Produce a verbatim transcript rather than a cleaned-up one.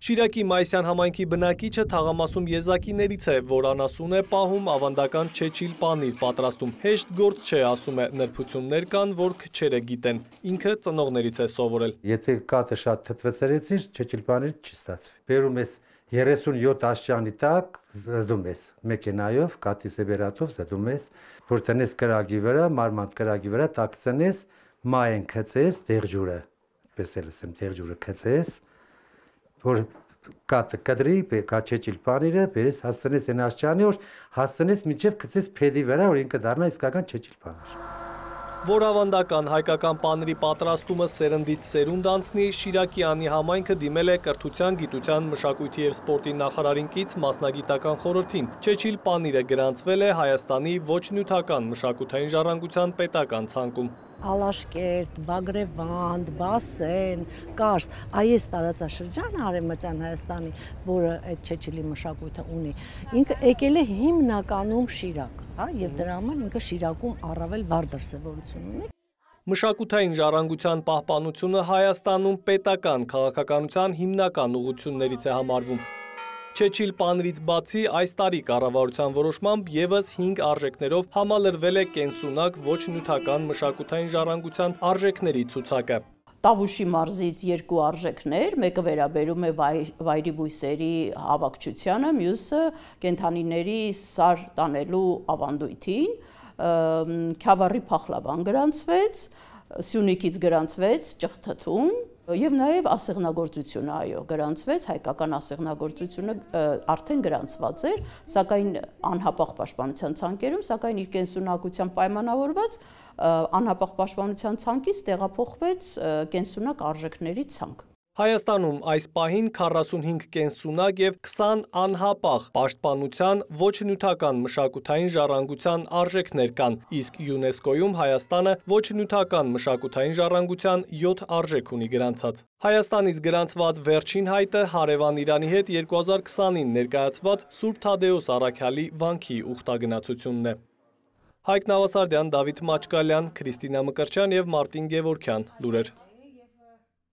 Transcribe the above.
Շիրակի Մայիսյան համայնքի բնակիչը թաղամասում եզակիներից է, որ անասուն է պահում, ավանդական չեչիլ պանիր պատրաստում։ Հեշտ գործ չէ, ասում է, նրբություններ կան, որ քչերը գիտեն։ Ինքը ծնողներից է սովորել։ Եթե կաթը շատ թթվեցրեցիր, չեչիլ պանիր չի ստացվի։ Բերում ես երեսունյոթ աշճանի տակ, զդում ես մեքենայով, կաթի սեբերատով զդում ես, որ տնես կրագի վրա, մարմանդ կրագի վրա տակ ծնես, մայեն քցես, դեղջուրը, պես էլ ասեմ, դեղջուրը քցես, որ կաթը կդրի, կաչեչիլ պանիրը, բերես հասցնես այն աշճանի, որ հասցնես մինչև քցես փեդի վրա, որ ինքը դառնա իսկական չեչիլ պանիր։ Որ ավանդական հայկական պանիրի պատրաստումը սերնդից սերունդ անցնի, Շիրակի անի համայնքը դիմել է Կրթության, գիտության, մշակույթի և սպորտի նախարարին կից մասնագիտական խորհրդին։ Չեչիլ պանիրը գրանցվել է Հայաստանի ոչ նյութական մշակութային ժառանգության պետական ցանկում։ Ալաշկերտ, Բագրևանդ, Բասեն, Կարս, այս տարածաշրջանը Արևմտյան Հայաստանի, որը այդ չեչիլի մշակույթը ունի, ինքը եկել է հիմնականում Շիրակ, եւ դրա համար ինքը Շիրակում առավել վառ դրսևորություն ունի։ Մշակութային ժառանգության պահպանությունը Հայաստանում պետական քաղաքականության հիմնական ուղղություններից է համարվում։ Չեչիլ պանիրից բացի այս տարի կառավարության որոշմամբ ևս հինգ արժեքներով համալրվել է կենսունակ ոչ նյութական մշակութային ժառանգության արժեքների ցուցակը։ Տավուշի մարզից երկու արժեքներ, մեկը վերաբերում է վայրի բույսերի հավաքչությանը, մյուսը կենդանիների սար տանելու ավանդույթին, Քյավառի փախլավան գրանցվեց, Սյունիքից գրանցվեց ճղթթուն, և նաև ասեղնագործությունը, այո, գրանցվեց, հայկական ասեղնագործությունը արդեն գրանցված էր, սակայն անհապաղ պաշտպանության ցանկերում, սակայն իր կենսունակությամբ պայմանավորված անհապաղ պաշտպանության ցանկից տեղափոխվեց կենսունակ արժեքների ցանկ։ Հայաստանում այս պահին քառասունհինգ կենսունակ և քսան անհապաղ պաշտպանության ոչ նյութական մշակութային ժառանգության արժեքներ կան, իսկ ՅՈՒՆԵՍԿՕ-ում Հայաստանը ոչ նյութական մշակութային ժառանգության յոթ արժեք ունի գրանցած։ Հայաստանից գրանցված վերջին հայտը հարևան Իրանի հետ երկու հազար քսանին ներկայացված Սուրբ Թադեոս առաքյալի վանքի ուխտագնացությունն է։ Հայկ Նավասարդյան, Դավիթ Մաչկալյան, Քրիստինա Մկրտչյան և Մարտին Գևորգյան, լուրեր։